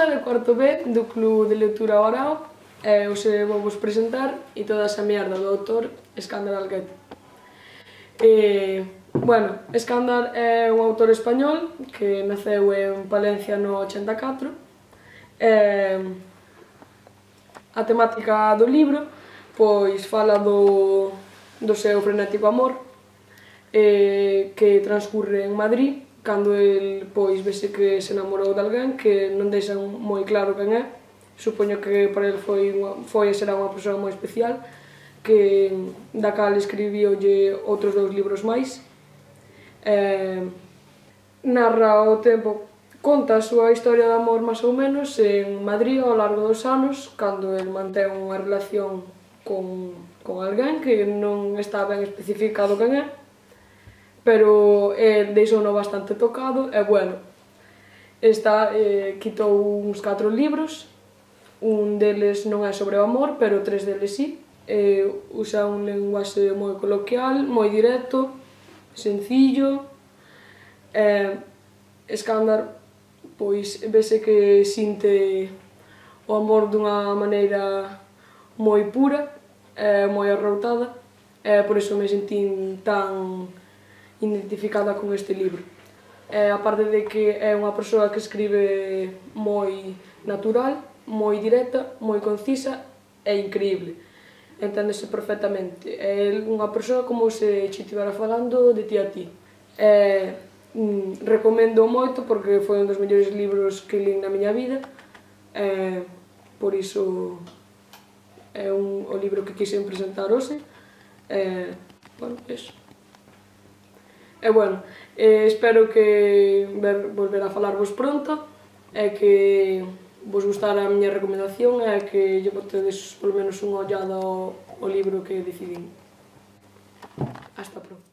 Rosa, de cuarto B, do Club de Lectura Orao, e hoxe vou vos presentar E toda esa mierda, do autor Eskandar Alguet. Bueno, Eskandar é un autor español que naceu en Palencia no 84. A temática do libro pois fala do seu frenético amor que transcurre en Madrid cando el pois vese que se enamorou de alguén que non deixan moi claro quen é. Supoño que para el foi e será unha persoa moi especial que da cal escribíolle outros 2 libros máis. Narra o tempo, conta a súa historia de amor máis ou menos en Madrid ao largo dos anos cando el mantén unha relación con alguén que non está ben especificado quen é, pero deixouno bastante tocado e bueno, quitou uns 4 libros, un deles non é sobre o amor, pero 3 deles sí, usa un lenguaxe moi coloquial, moi directo, sencillo. Eskandar pois vese que sinte o amor dunha maneira moi pura e moi arroutada e por iso me sentín tan identificada con este libro. Aparte de que é unha persoa que escribe moi natural, moi directa, moi concisa e increíble. Enténdese perfectamente. É unha persoa como se che estivera falando de ti a ti. Recomendo moito porque foi un dos mellores libros que lín na miña vida. Por iso é o libro que quixen presentar hoxe. Bueno, eso. E bueno, espero que volver a falarvos pronto e que vos gustara a miña recomendación e que lle botedes polo menos unha ollada ao libro que decidín. Hasta pronto.